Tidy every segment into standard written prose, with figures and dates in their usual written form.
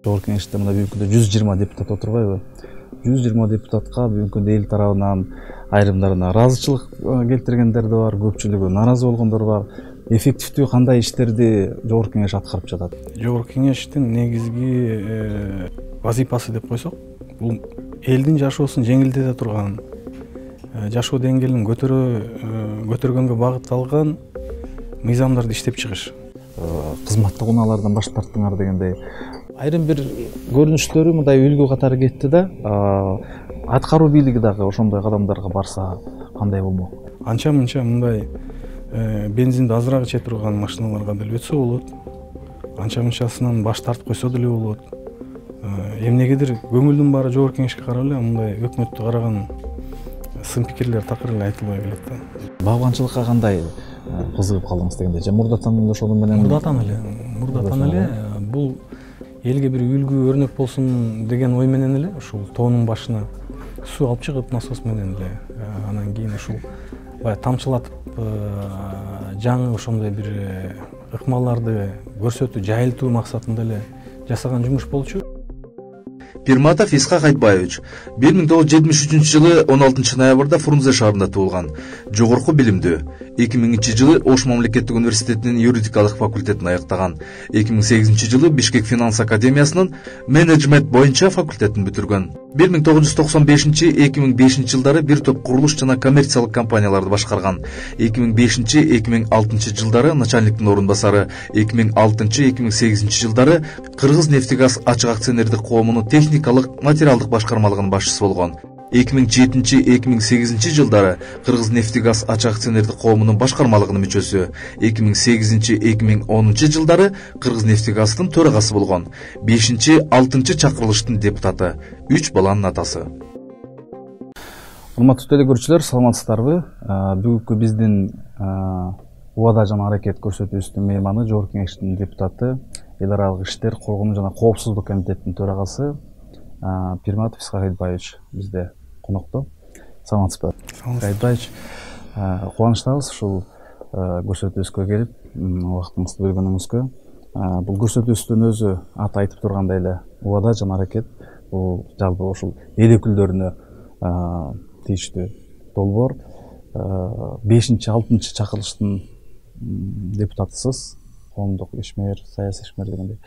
Жогорку Кеңеште мына бүгүнкү күндө 120 депутат отурбайбы? 120 депутатка бүгүнкү күндө эл тарабынан айрымдарына ыраазычылык келтиргендер да бар, көпчүлүгү нааразы болгондор бар. Эффективдүү кандай иштерди Жогорку Кеңеш аткарып жатат? Жогорку Кеңештин негизги вазифасы деп койсок, бул элдин жашоосун жеңилдете турган, жашоо деңгээлин көтөргөнгө багытталган мыйзамдарды иштеп чыгыш. Кызматтык унаалардан баш тарттыңар дегендей айрым бир көрүнүштөрү мындай үлгү катары кетти да. Аткаруу бийлиги дагы ошондой кадамдарга барса кандай болмок? Анча мынча мындай бензинди азыраак иче турган машиналарга деле өтсө болот. Анча мынчасынан баш тартып койсо деле болот. Эмнегедир көңүлдүн баары Жогорку Кеңешке карап эле мындай өкмөттү караган сын пикирлер такыр эле айтылбай келет да. Багбанчылыкка кандай кызыгып калдыңыз дегенде, же мурдатан эле ошону менен? Мурдатан эле бул элге бир үлгү өрнөк болсун деген ой менен эле ушул тоонун башына суу алып чыгып насос менен эле анан кийин ушул баягы тамчылатып жаңы ошондой бир ыкмаларды көрсөтүү, жайылтуу максатында эле жасаган жумуш болчу. Пирматов Исхак Айтбаевич 1973-жылы 16 ноябрда Фрунзе шаарында туулган. Жогорку билимдүү. 2000-жылы Ош мамлекеттик университетинин юридикалык факультетин аяктаган. 2008-жылы Бишкек финанс академиясынын менеджмент боюнча факультетин бүтүргөн. 1995-2005 жылдары бир топ курулуш жана коммерциялык компанияларды башкарган. 2005-2006 жылдары начальниктин орун басары, 2006-2008 жылдары Кыргыз нефтегаз ачык акционердик коомунун техникалык материалдык башкармалыгынын башчысы болгон. 2007-2008 жылдары Кыргыз нефтегаз ачык акционердик коомунун башкармалыгынын мүчөсү, 2008-2010 жылдары Кыргыз нефтегаздын төрагасы болгон. 5-6 чакырылыштын депутаты, 3 баланын атасы. Урматтуу телекөрүүчүлөр, саламатсыздарбы? Бүгүнкү биздин убада жана аракет көрсөтүүбүздүн мейманы Жогорку Кеңештин депутаты, эл аралык иштер, коргонуу жана коопсуздук комитетинин төрагасы Пирматов Исхак Айтбаевич бизде конокто. Саламатсызбы? Айтбаевич, кубанычтабыз ушул көрсөтүүбүзгө келип, убактыңызды бөлгөнүңүзгө. Бул көрсөтүүбүздүн өзү аты айтып тургандай эле убада жана аракет. Бул жалпы ушул эл өкүлдөрүнө тийиштүү долбоор. 5-6 чакырылыштын депутатысыз, коомдук ишмер, саясий ишмер дегендей.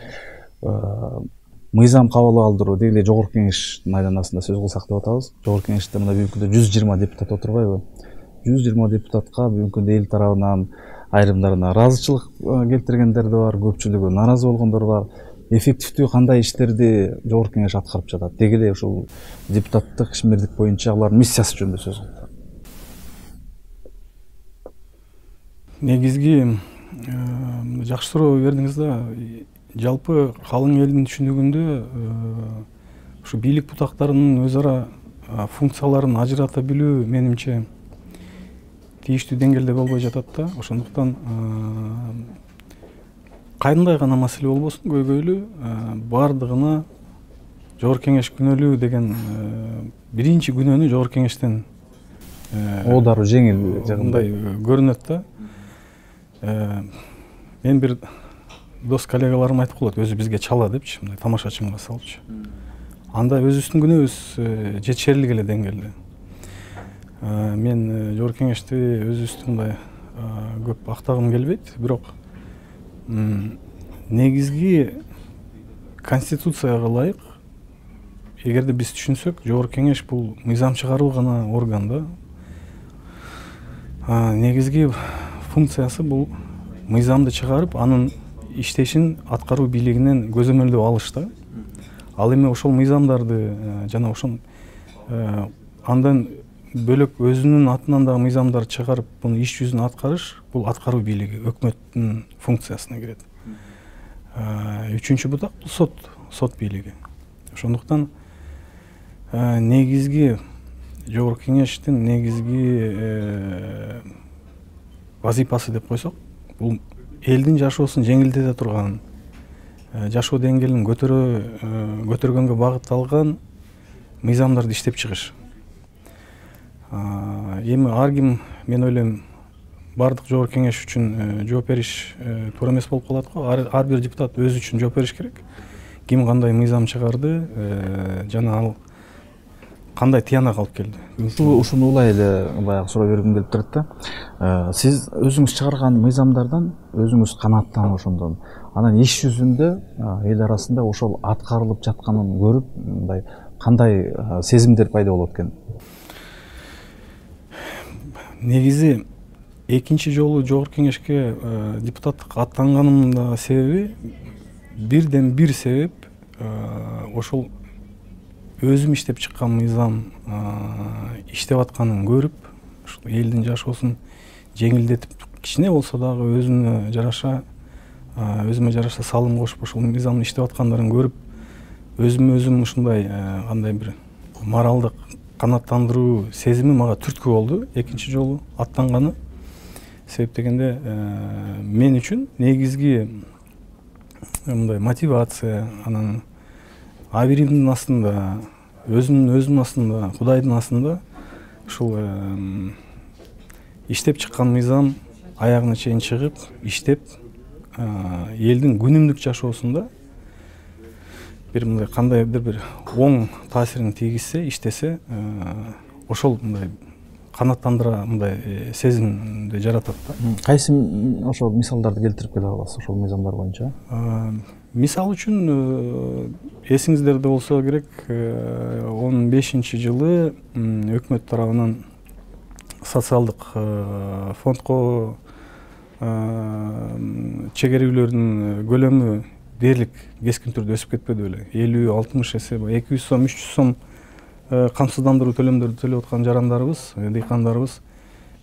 Мыйзам кабыл алдыруу деги Жогорку Кеңештин айланасында сөз кылсак деп атабыз. Жогорку Кеңеште мына бүгүнкү күндө 120 депутат отурбайбы? 120 депутатка бүгүнкү күндө эл тарабынан айрымдарына ыраазычылык келтиргендер да бар, көпчүлүгү нааразы болгондор бар. Эффективдүү кандай иштерди Жогорку Кеңеш аткарып жатат? Деги эле ушул депутаттык ишмердик боюнча алардын миссиясы жөнүндө сөз кылдык. Негизги жакшы суроо бердиңиз да. Жалпы калың элдин түшүнүгүндө ушу бийлик бутактарынын өз ара функцияларын ажырата билүү менимче тийиштүү деңгээлде болбой жатат да. Ошондуктан кандай гана маселе болбосун, көйгөйлүү бардыгына Жогорку Кеңеш күнөөлүү деген биринчи күнөөнү Жогорку Кеңештен оодару жеңил мындай көрүнөт да. Мен бир дос коллегаларым айтып коет, өзү бизге чала депчи, мындай тамашачымга салчу. Анда өзүбүздүн күнөөбүз жетишерлик эле деңгээлде. Мен Жогорку Кеңешти өзүбүздү мындай көп актагым келбейт, бирок негизги конституцияга ылайык, эгерде биз түшүнсөк, Жогорку Кеңеш бул мыйзам чыгаруу гана орган да. Негизги функциясы бул мыйзамды чыгарып, анын иштешин аткаруу бийлигинен көзөмөлдөп алыш да. Ал эми ошол мыйзамдарды жана ошон андан бөлөк өзүнүн атынан дагы мыйзамдар чыгарып, муну иш жүзүнө аткарыш бул аткаруу бийлиги, өкмөттүн функциясына кирет. Үчүнчү бутак бул сот бийлиги. Ошондуктан негизги Жогорку Кеңештин негизги вазифасы деп койсок, бул элдин жашоосун жеңилдете турган, жашоо деңгээлин көтөргөнгө багытталган мыйзамдарды иштеп чыгыш. Эми ар ким, мен ойлойм, бардык Жогорку Кеңеш үчүн жооп бериш туура эмес болуп калат го. Ар бир депутат өзү үчүн жооп бериш керек. ким кандай мыйзам чыгарды, жана ал кандай тыянак алып келди. Ушуну улай эле баягы суроо бергим келип турат да. Сиз өзүңүз чыгарган мыйзамдардан өзүңүз канааттанып ошондон анан иш жүзүндө эл арасында ошол аткарылып жатканын көрүп мындай кандай сезимдер пайда болот экен? Негизи экинчи жолу жогорку кеңешке депутаттыкка аттанганымдын себеби бирден бир себеп ошол өзүм иштеп чыккан мыйзам иштеп атканын көрүп, ушул элдин жашоосун жеңилдетип, кичине болсо дагы өзүмө жараша салым кошуп ошол мыйзамды иштеп аткандарын көрүп, өзүм ушундай кандай бир моралдык канааттандыруу сезими мага түрткү болду экинчи жолу аттанганы. Себеп дегенде мен үчүн негизги мындай мотивация, анан абийиримдин астында, өзүмдүн астында, Кудайдын астында ушул иштеп чыккан мыйзам аягына чейин чыгып, иштеп, элдин күнүмдүк жашоосунда бир мындай кандайдыр бир оң таасирин тийгизсе, иштесе, ошол мындай канааттандыра мындай сезимди жаратат да. Кайсы ошол мисалдарды келтирип келе аласыз ошол мыйзамдар боюнча? Мисал үчүн эсиңиздерде болсо керек, 15-жылы өкмөт тарабынан социалдык фондко чегерүүлөрдүн көлөмү дээрлик кескин түрдө өсүп кетпеди беле? 50-60 эсе, 200 сом, 300 сом камсыздандыруу төлөмдөрдү төлөп аткан жарандарыбыз, дыйкандарыбыз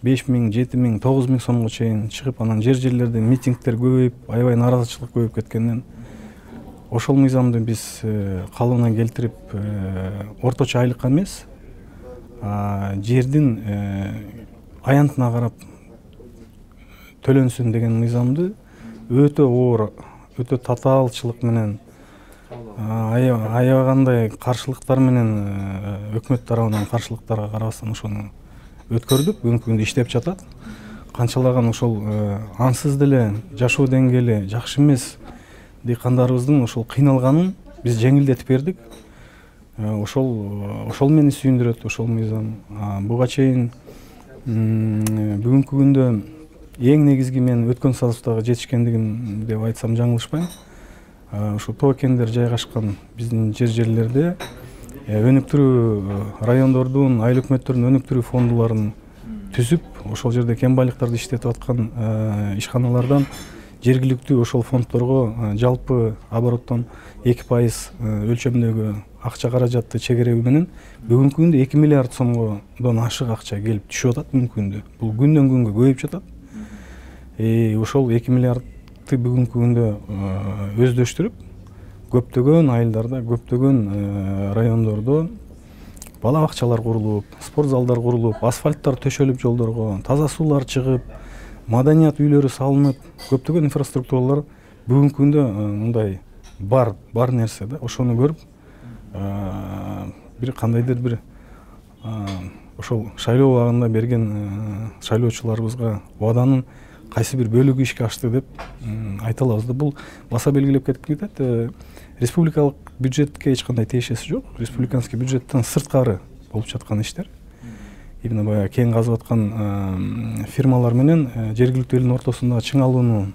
5000, 7000, 9000 сомго чейин чыгып, анан жерлерде митингдер көбөйүп, аябай нааразычылык көбөйүп кеткенден ошол мыйзамды биз калыбына келтирип, орточо айлыкка эмес, жердин аянтына карап төлөнсүн деген мыйзамды өтө оор, өтө татаалчылык менен, аябагандай каршылыктар менен, өкмөт тарабынан каршылыктарга карабастан ошону өткөрдүк. Бүгүнкү күндө иштеп жатат. Канчалаган ошол ансыз деле жашоо деңгээли жакшы эмес дыйкандарыбыздын ошол кыйналганын биз жеңилдетип бердик. Ошол мени сүйүндүрөт, ошол мыйзам. Буга чейин бүгүнкү күндө эң негизги мен өткөн составга жетишкендигим деп айтсам жаңылышпайм. Ушу тоо кендер жайгашкан биздин жерлерде өнүктүрүү райондордун, айыл өкмөттөрдүн өнүктүрүү фондуларын түзүп, ошол жерде кембайлыктарды иштетип аткан ишканалардан жергиликтүү ошол фонддорго жалпы обороттон 2% өлчөмдөгү акча каражатты чегерүү менен бүгүнкү күндө 2 миллиард сомдон ашык акча келип түшүп атат. Бүгүнкү күндө бул күндөн күнгө көбөйүп жатат. Ошол 2 миллиардты бүгүнкү күндө өздөштүрүп, көптөгөн айылдарда, көптөгөн райондордо бала бакчалар курулуп, спорт залдар курулуп, асфальттар төшөлүп жолдорго, таза суулар чыгып, маданият үйлөрү салынып, көптөгөн инфраструктуралар бүгүнкү күндө мындай бар нерсе да. Ошону көрүп, бир кандайдыр бир ошол шайлоо убагында берген шайлоочуларыбызга убаданын кайсы бир бөлүгү ишке ашты деп айта алабыз да. Бул баса белгилеп кетип кетет. Республикалык бюджетке эч кандай тиешеси жок. Республиканский бюджеттен сырткары болуп жаткан иштер. Именно баягы кен казып аткан фирмалар менен жергиликтүү элдин ортосундагы чыңалууну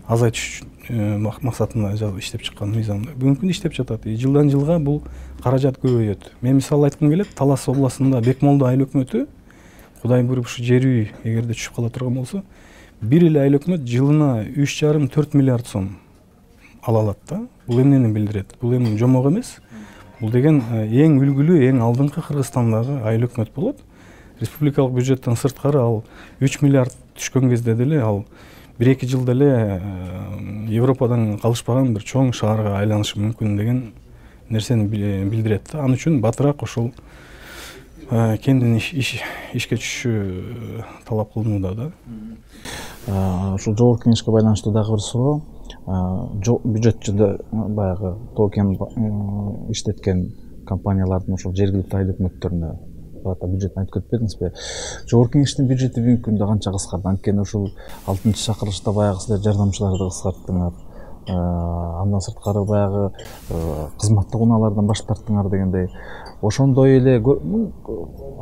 азайтыш максатында иштеп чыккан мыйзамда бүгүнкү күндө иштеп жатат. Жылдан жылга бул каражат көбөйөт. Мен мисал айткым келет, Талас областында Бекмолдо айыл өкмөтү, Кудай буйруп ушу жер үй эгерде түшүп кала турган болсо, бир эле айыл өкмөт жылына 3,5-4 миллиард сом ала алат да. Бул эмнени билдирет? Бул эми жомок эмес. Бул деген эң үлгүлүү, эң алдыңкы Кыргызстандагы айыл өкмөт болот. Республикалык бюджеттен сырткары ал 3 миллиард түшкөн кезде деле ал 1-2 жылда эле Европадан калышпаган бир чоң шаарга айланышы мүмкүн деген нерсени билдирет да. Ал үчүн батыраак ошол кендин ишке түшүшү талап кылынууда да. Ушул жогорку кеңешке байланыштуу дагы бир суроо. Бюджетчиде баягы тоо кен иштеткен компаниялардын ошол жергиликтүү айыл өкмөттөрүнө бюджетин айтып кетпедиңизби? Жогорку кеңештин бюджети бүгүнкү күндө канча кыскарды? Анткени ушул 6-чакырылышта баягы силер жардамчыларды кыскарттыңар. андан сырткары баягы кызматтык унаалардан баш тарттыңар дегендей, ошондой эле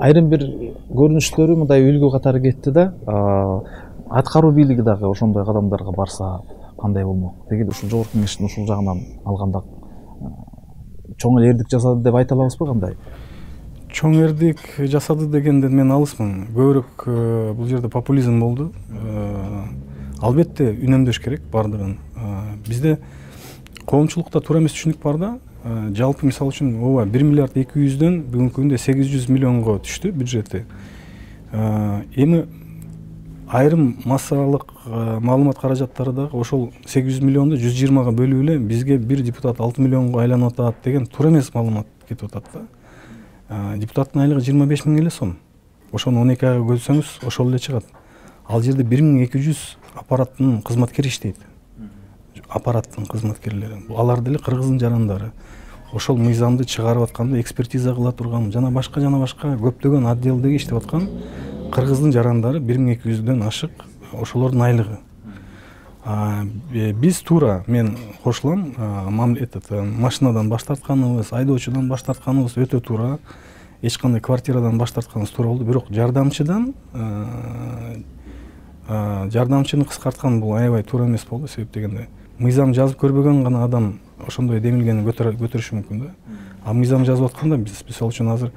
айрым бир көрүнүштөрү мындай үлгү катары кетти да. Аткаруу бийлиги дагы ошондой кадамдарга барса кандай болмок? Деги ушул жогорку кеңештин ушул жагынан алганда чоң эле эрдик жасады деп айта алабызбы, кандай? Чоң эрдик жасады дегенден мен алысмын. Көбүрөөк бул жерде популизм болду. Албетте үнөмдөш керек бардыгын. Бизде коомчулукта туура эмес түшүнүк бар да. Жалпы мисалы үчүн ооба 1 миллиард 200дөн бүгүнкү күндө 800 миллионго түштү бюджети. Эми айрым массалык маалымат каражаттары дагы ошол 800 миллионду 120га бөлүп эле бизге бир депутат 6 миллионго айланып атат деген туура эмес маалымат кетип атат да. Депутаттын айлыгы 25 миң эле сом. Ошону 12 айга бөлсөңүз ошол эле чыгат. Ал жерде 1200 аппараттын кызматкери иштейт. Аппараттын кызматкерлери. Алар деле кыргыздын жарандары. Ошол мыйзамды чыгарып атканда экспертиза кыла турган жана башка көптөгөн отделдеги иштеп аткан кыргыздын жарандары 1200дөн ашык, ошолордун айлыгы. Биз туура, мен кошулам, машинадан баш тартканыбыз, айдоочудан баш тартканыбыз өтө туура. Эч кандай квартирадан баш тартканыбыз туура болду. Бирок жардамчыны кыскарткан бул аябай туура эмес болду. Себеп дегенде мыйзам жазып көрбөгөн гана адам ошондой демилгени көтөрүшү мүмкүн да. Мыйзам жазып атканда биз мисалы үчүн азыр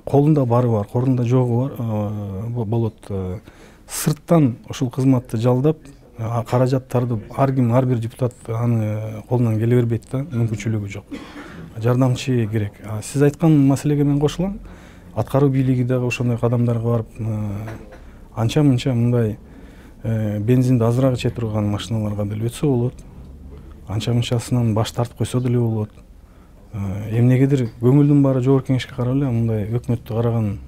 колунда бары бар, колунда жогу бар болот. Сырттан ошол кызматты жалдап, каражаттарды ар бир депутат аны колунан келе бербейт да, мүмкүнчүлүгү жок. Жардамчы керек. Сиз айткан маселеге мен кошулам. Аткаруу бийлиги дагы ошондой кадамдарга барып, анча-мынча мындай бензинди азыраак иче турган машиналарга деле өтсө болот. Анча-мынчасынан баш тартып койсо деле болот. Эмнегедир көңүлдүн баары жогорку кеңешке карап эле мындай өкмөттү караган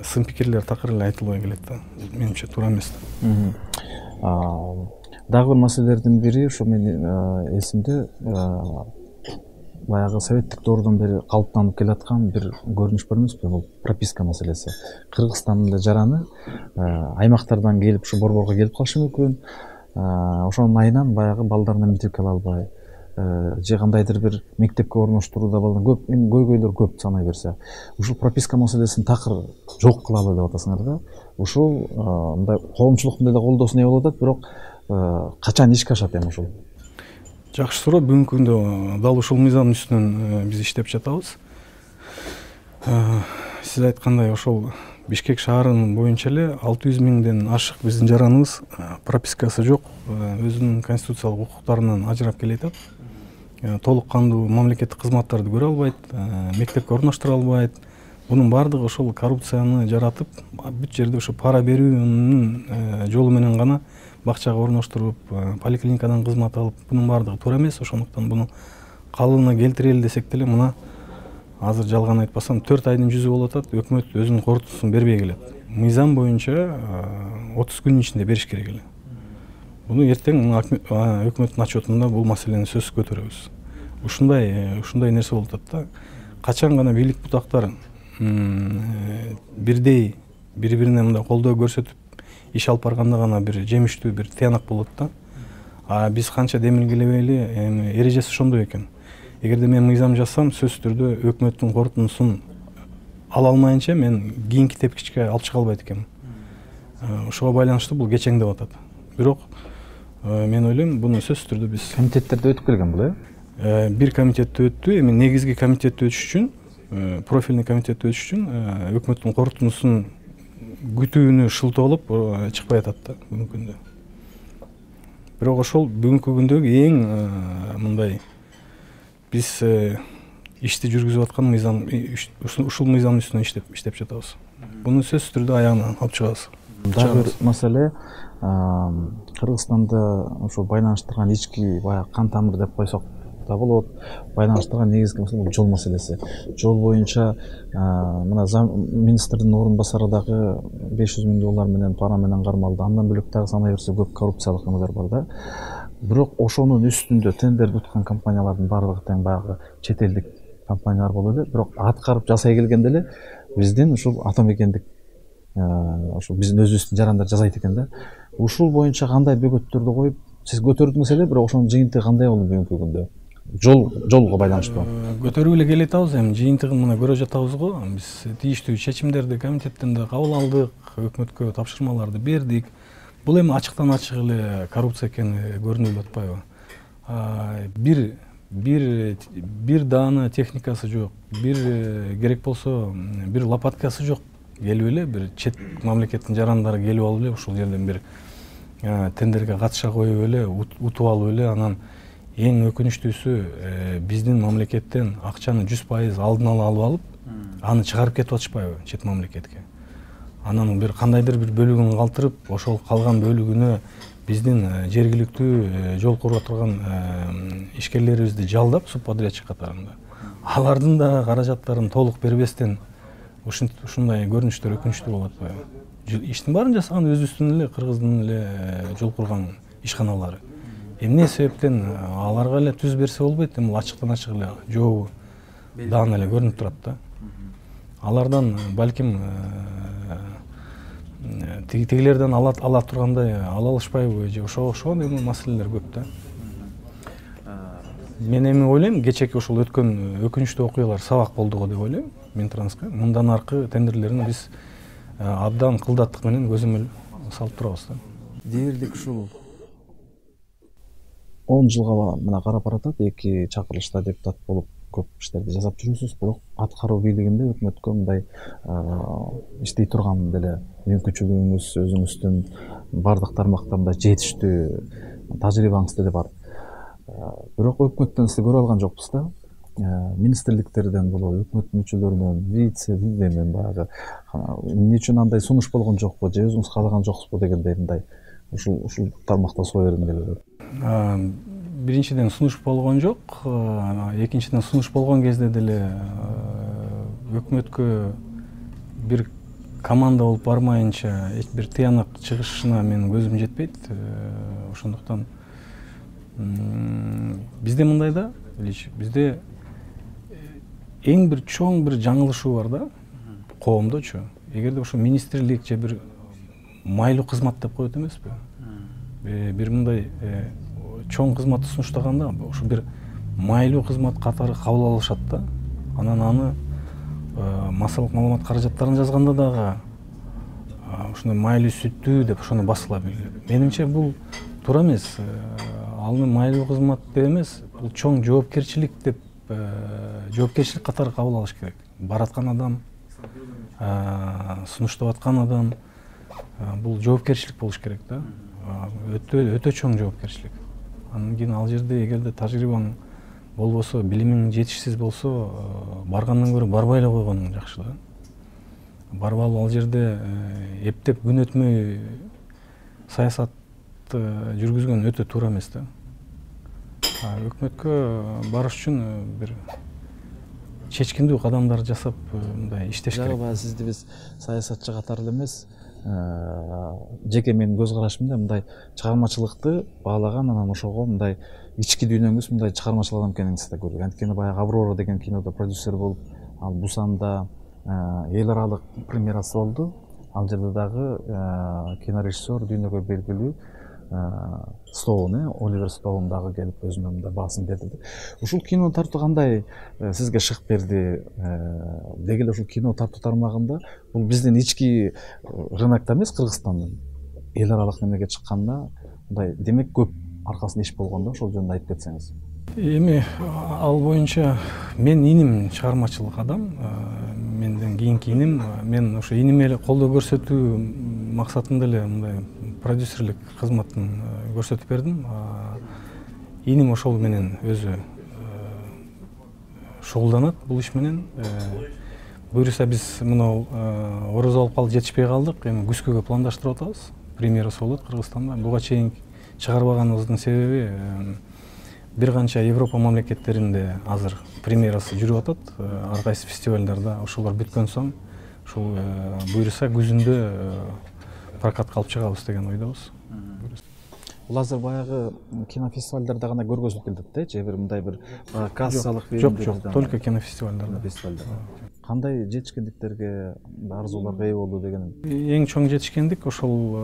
сын пикирлер такыр эле айтылбай келет да. Менимче туура эмес. Дагы бир маселелердин бири ошо менин эсимде, баягы советтик доордон бери калыптанып келаткан бир көрүнүш бар эмеспи? Бул прописка маселеси. Кыргызстандын жараны аймактардан келип ушу борборго келип калышы мүмкүн. Ошонун айынан баягы балдарына мектепке ала албай, же кандайдыр бир мектепке орноштурууда көп көйгөйлөр көп санай берсе. Ушул прописка маселесин такыр жок кылалы деп атасыңар да. Ушул мындай коомчулуктун деле колдоосуна ээ болуп атат, бирок качан ишке ашат эми ушул? Жакшы суроо. Бүгүнкү күндө дал ушул мыйзамдын үстүнөн биз иштеп жатабыз. Сиз айткандай ошол Бишкек шаарынын боюнча эле 600 миңден ашык биздин жараныбыз пропискасы жок, өзүнүн конституциялык укуктарынан ажырап келе атат. Толук кандуу мамлекеттик кызматтарды көрө албайт, мектепке орноштура албайт. Бунун баардыгы ошол коррупцияны жаратып, бүт жерде ошо пара берүүнүн жолу менен гана бакчага орноштуруп, поликлиникадан кызмат алып, бунун баардыгы туура эмес. Ошондуктан буну калыбына келтирели десек деле, мына азыр жалган айтпасам 4 айдын жүзү болуп атат, өкмөт өзүнүн корутуусун бербей келет. Мыйзам боюнча 30 күнүн ичинде бериш керек эле. Буну эртең өкмөттүн отчетунда бул маселени сөзсүз көтөрөбүз. Ушундай нерсе болуп атат да. Качан гана бийлик бутактар бирдей бири-бирине мындай колдоо көрсөтүп иш алып барганда гана бир жемиштүү бир тыянак болот да. Биз канча демилгелебейли, эрежеси ошондой экен. Эгерде мен мыйзам жазсам, сөзсүз түрдө өкмөттүн корутуусун ала алмайынча мен кийинки тепкичке алып чыга албайт экенмин. Ошого байланыштуу бул кечеңдеп атат. Бирок мен ойлойм, буну сөзсүз түрдө биз комитеттерде өтүп келген бул, бир комитетте өттү. Эми негизги комитетте өтүш үчүн, профильный комитетте өтүш үчүн өкмөттүн корутуусун күтүүнү шылтоолоп чыкпай атат да бүгүнкү күндө. Бирок ошол бүгүнкү күндөгү эң мындай биз ишти жүргүзүп аткан мыйзам, ушул мыйзамдын үстүнөн иштеп жатабыз. Буну сөзсүз түрдө аягына алып чыгабыз. Дагы бир маселе, Кыргызстанда ошо байланыштырган ички баягы кан тамыр деп койсок да болот. Байланыштырган негизги маселе бул жол маселеси. Жол боюнча мына министрдин орун басары дагы 500 миң доллар менен пара менен кармалды. Андан бөлөк дагы санай берсе көп коррупциялык нерселер бар да. Бирок ошонун үстүндө тендер уткан компаниялардын баардыгы тең баягы чет элдик компаниялар болуп эле. Бирок аткарып жасай келгенде эле биздин ушул атамекендик ушул биздин өзүбүздүн жарандар жасайт экен да. Ушул боюнча кандай бөгөттөрдү коюп сиз көтөрдүңүз эле, бирок ошонун жыйынтыгы кандай болду бүгүнкү күндө? Жолго байланыштуу. Көтөрүп эле келатабыз, эми жыйынтыгын мына көрө жатабыз го. Биз тийиштүү чечимдерди комитеттен да кабыл алдык, өкмөткө тапшырмаларды бердик. Бул эми ачыктан ачык эле коррупция экени көрүнүп атпайбы? Бир даана техникасы жок, бир керек болсо бир лопаткасы жок. Келип эле бир чет мамлекеттин жарандары келип алып эле ушул жерден бир тендерге катыша коюп эле утуп алып эле, анан эң өкүнүчтүүсү биздин мамлекеттен акчаны 100% алдын ала алып алып, аны чыгарып кетип атышпайбы чет мамлекетке. Анан бир кандайдыр бир бөлүгүн калтырып, ошол калган бөлүгүнө биздин жергиликтүү жол куруп турган ишкерлерибизди жалдап субподрядчик катарында алардын да каражаттарын толук бербестен ушундай көрүнүштөр өкүнүчтүү болуп атпайбы? Иштин баарын жасаган өзүбүздүн эле кыргыздын эле жол курган ишканалары. Эмне себептен аларга эле түз берсе болбойт? Эми ачыктан ачык эле жообу даана эле көрүнүп турат да. Алардан балким тигилерден ала тургандай ала алышпайбы же ошого эми маселелер көп да. Мен эми ойлойм, кечээки ушул өткөн өкүнүчтүү окуялар сабак болду го деп ойлойм. Минтранска мындан аркы тендерлерин биз абдан кылдаттык менен көзөмөл салып турабыз да. Дээрлик ушул 10 жылга мына карап баратат, 2 чакырылышта депутат болуп көп иштерди жасап жүрүпсүз, бирок аткаруу бийлигинде өкмөткө мындай иштей турган деле мүмкүнчүлүгүңүз өзүңүздүн бардык тармакта мындай жетиштүү тажрыйбаңыз деле бар. Бирок өкмөттөн сизди көрө алган жокпуз да. Министрликтерден болобу, өкмөт мүчөлөрүнөн, вице-премьерден баягы эмне үчүн андай сунуш болгон жокпу, же өзүңүз каалаган жоксузбу дегендей мындай ушул тармакта суроо бергим келет. Биринчиден сунуш болгон жок, экинчиден сунуш болгон кезде деле өкмөткө бир команда болуп бармайынча эч бир тыянак чыгышына менин көзүм жетпейт. Ошондуктан бизде мындай да, бизде эң бир чоң бир жаңылышуу бар да коомдочу. Эгерде ошо министрлик же бир майлуу кызмат деп коет эмеспи? Бир мындай чоң кызматты сунуштаганда ошо бир майлуу кызмат катары кабыл алышат да. Анан аны массалык маалымат каражаттарын жазганда дагы ушундай майлуу сүттүү деп ошону басыла билет. Менимче бул туура эмес. Ал майлуу кызмат деп эмес, бул чоң жоопкерчилик деп жоопкерчилик катары кабыл алыш керек. Бараткан адам, сунуштап аткан адам, бул жоопкерчилик болуш керек да. Өтө чоң жоопкерчилик. Анан кийин ал жерде эгерде тажрыйбаң болбосо, билимиң жетишсиз болсо, баргандан көрө барбай эле койгонуң жакшы да. Барып алып ал жерде эптеп күн өтмөй саясат жүргүзгөн өтө туура эмес да. Өкмөткө барыш үчүн бир чечкиндүү кадамдар жасап мындай иштеш керек. Жагы сизди биз саясатчы катары эле эмес, жеке менин көз карашымда мындай чыгармачылыкты баалаган, анан ошого мындай ички дүйнөңүз мындай чыгармачыл адам экениңизди да көрдүк. Анткени баягы Аврора деген кинодо продюсер болуп, ал Бусанда эл аралык премьерасы болду. Ал жерде дагы кинорежиссер дүйнөгө белгилүү Стоун, Оливер Стоун дагы келип өзүнүн мындай баасын берди. Ушул кино тартуу кандай сизге шык берди? Деги эле ушул кино тартуу тармагында бул биздин ички рынокто эмес, Кыргызстандын эл аралык немеге чыкканда мындай демек көп аркасында иш болгон да, ошол жөнүндө айтып кетсеңиз. Эми ал боюнча мен иним чыгармачылык адам, менден кийинки иним, мен ошо иниме эле колдоо көрсөтүү максатында эле мындай продюсерлик кызматын көрсөтүп бердим. Иним ошол менен өзү шугулданат бул иш менен. Буюрса биз мына орозо алып калып жетишпей калдык. Эми күзгөгө пландаштырып атабыз. Премьерасы болот Кыргызстанда. Буга чейин чыгарбаганыбыздын себеби бир канча Европа мамлекеттеринде азыр премьерасы жүрүп атат. Ар кайсы фестивалдарда ошолор бүткөн соң ушул буюрса күзүндө прокатка алып чыгабыз деген ойдобуз. Бул азыр баягы кинофестивалдарда гана көргөзүлүп келет да, же бир мындай бир кассалык жок, только кинофестивалдарда. Кандай жетишкендиктерге, арзууларга ээ болду деген? Эң чоң жетишкендик ошол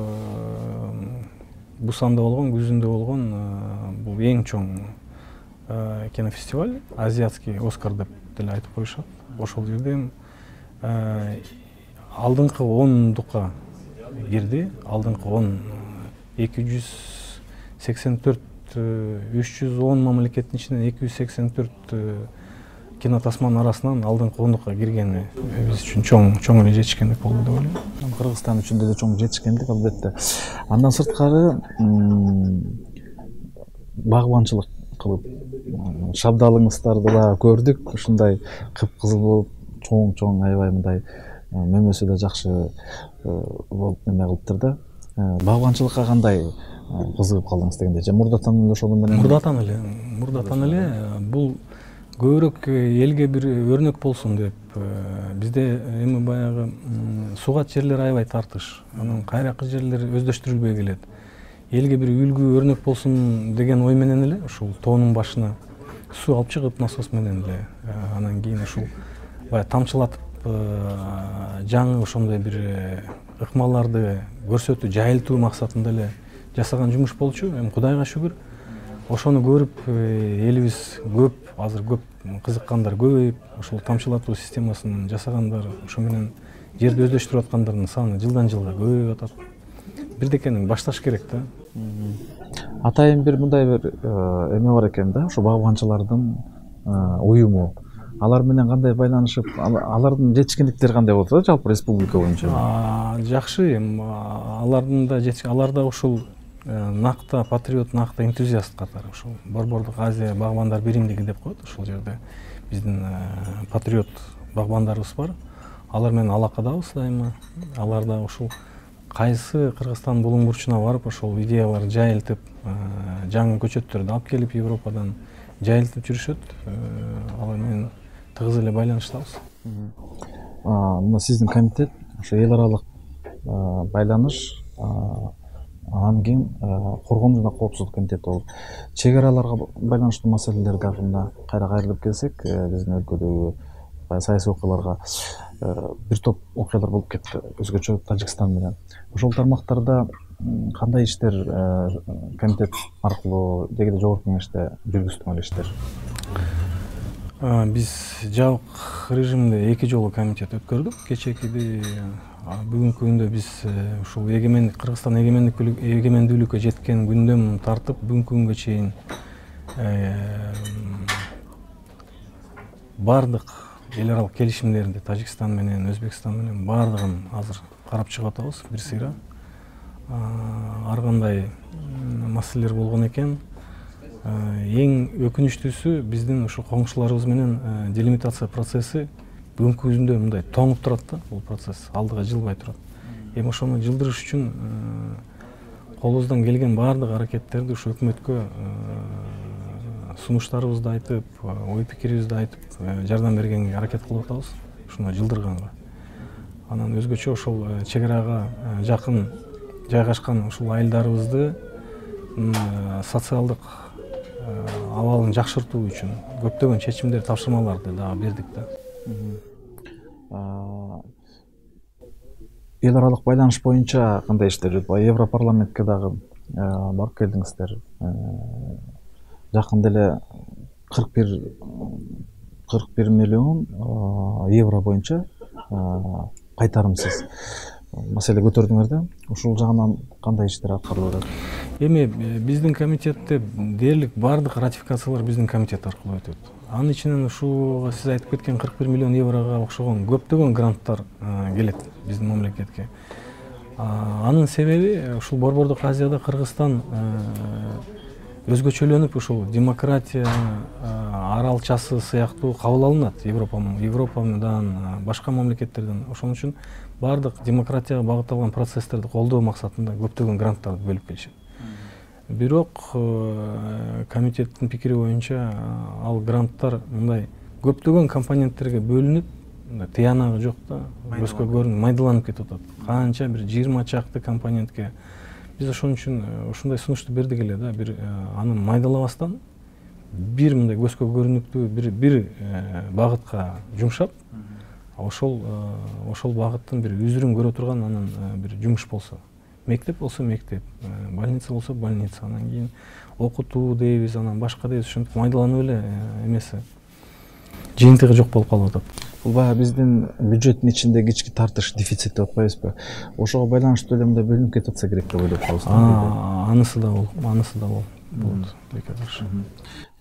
Бусанда болгон, күзүндө болгон бул эң чоң кинофестиваль, азиатский Оскар деп деле айтып коюшат. Ошол жерде алдыңкы 10-дукка кирди. Алдыңкы 10 284 310 мамлекеттин ичинен 284 кинотасманын арасынан алдыңкы 10-дукка киргени биз үчүн чоң эле жетишкендик болду деп ойлойм. Кыргызстан үчүн деле чоң жетишкендик албетте. Андан сырткары багбанчылык кылып шабдалыңыздарды да көрдүк. Ушундай кыпкызыл болуп, чоң аябай мындай мөмөсү да жакшы болуп эме кылыптыр да. Багбанчылыкка кандай кызыгып калдыңыз дегенде, же мурдатан эле ошону менен? Мурдатан эле бул көбүрөөк элге бир өрнөк болсун деп бизде эми баягы сугат жерлер аябай тартыш. Анан кайракы жерлер өздөштүрүлбөй келет. Элге бир үлгү өрнөк болсун деген ой менен эле ушул тоонун башына суу алып чыгып насос менен эле анан кийин ушул баягы тамчылатып жаңы ошондой бир ыкмаларды көрсөтүү, жайылтуу максатында эле жасаган жумуш болчу. Эми Кудайга шүгүр ошону көрүп элибиз азыр көп кызыккандар көбөйүп, ошол тамчылатуу системасын жасагандар, ошо менен жерди өздөштүрүп аткандардын саны жылдан жылга көбөйүп атат. Бирдекени башташ керек да. Атайын бир мындай бир эме бар экен да, ошо багбанчылардын уюму. Алар менен кандай байланышып, алардын жетишкендиктери кандай болот да жалпы республика боюнча? Жакшы, алардын да аларда ушул накта патриот, накта энтузиаст катары ушул Борбордук Азия багбандар биримдиги деп коет. Ушул жерде биздин патриот багбандарыбыз бар. Алар менен алакадабыз дайыма. Алар да ушул кайсы Кыргызстан булуң бурчуна барып ошол идеяларды жайылтып, жаңы көчөттөрдү алып келип Европадан жайылтып жүрүшөт. Алар менен тыгыз эле байланыштабыз. Мына сиздин комитет ошо эл аралык байланыш, анан кийин коргонуу жана коопсуздук комитети болуп, чек араларга байланыштуу маселелер дагы мына кайра кайрылып келсек, биздин өлкөдөгү саясий окуяларга бир топ окуялар болуп кетти, өзгөчө Тажикстан менен. Ошол тармактарда кандай иштер комитет аркылуу деги жогорку кеңеште жүргүздүңөр иштер? Биз жабык режимде 2 жолу комитет өткөрдүк. Кечээкиди бүгүнкү күндө биз ушул Кыргызстан эгемендүүлүккө жеткен күндөн тартып бүгүнкү күнгө чейин бардык эл аралык келишимдерди Тажикстан менен, Өзбекстан менен бардыгын азыр карап чыгып атабыз бир сыйра. Ар кандай маселелер болгон экен. Эң өкүнүчтүүсү биздин ушул коңшуларыбыз менен делимитация процесси бүгүнкү күндө мындай тоңуп турат да, бул процесс алдыга жылбай турат. Эми ошону жылдырыш үчүн колубуздан келген бардык аракеттерди ушу өкмөткө сунуштарыбызды айтып, ой пикирибизди айтып, жардам бергенге аракет кылып атабыз, ушуну жылдырганга. Анан өзгөчө ошол чек арага жакын жайгашкан ушул айылдарыбызды социалдык абалын жакшыртуу үчүн көптөгөн чечимдер, тапшырмаларды дагы бердик да. Эл аралык байланыш боюнча кандай иштер жүрүп, Европарламентке дагы барып келдиңиздер. Жакында эле 41 миллион евро боюнча кайтарымсыз маселе көтөрдүңөр да. Ушул жагынан кандай иштер аткарылып атат? Эми биздин комитетте дээрлик бардык ратификациялар биздин комитет аркылуу өтөт. Анын ичинен ушуга сиз айтып кеткен 41 миллион еврого окшогон көптөгөн гранттар келет биздин мамлекетке. Анын себеби ушул Борбордук Азияда Кыргызстан өзгөчөлөнүп ушул демократия аралчасы сыяктуу кабыл алынат Европадан, башка мамлекеттерден. Ошон үчүн бардык демократияга багытталган процесстерди колдоо максатында көптөгөн гранттарды бөлүп келишет. Бирок комитеттин пикири боюнча ал гранттар мындай көптөгөн компоненттерге бөлүнүп, тыянагы жок да, көзгө көрүнүп майдаланып кетип атат. Канча бир 20 чакты компонентке биз ошон үчүн ушундай сунушту бердик эле да, бир аны майдалабастан бир мындай көзгө көрүнүктүү бир багытка жумшап, ошол багыттын бир үзүрүн көрө турган анан бир жумуш болсо. мектеп болсо мектеп, больница болсо больница, анан кийин окутуу дейбиз, анан башка дейбиз, ушинтип майдаланып эле эмеси жыйынтыгы жок болуп калып атат. Бул баягы биздин бюджеттин ичинде кички тартыш, дефицит деп атпайбызбы? Ошого байланыштуу эле мындай бөлүнүп кетип атса керек деп ойлоп калабыз. Анысы да болот.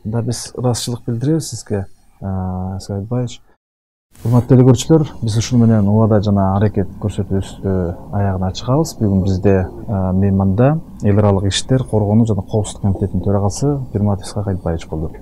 Да, биз ыраазычылык билдиребиз сизге, Эскай Айтбаевич. Урматтуу эле көрүүчүлөр, биз ушуну менен убада жана аракет көрсөтүүбүздү аягына чыгабыз. Бүгүн бизде мейманда эл аралык иштер, коргонуу жана коопсуздук комитетинин төрагасы Пирматов Эскай Айтбаевич болду.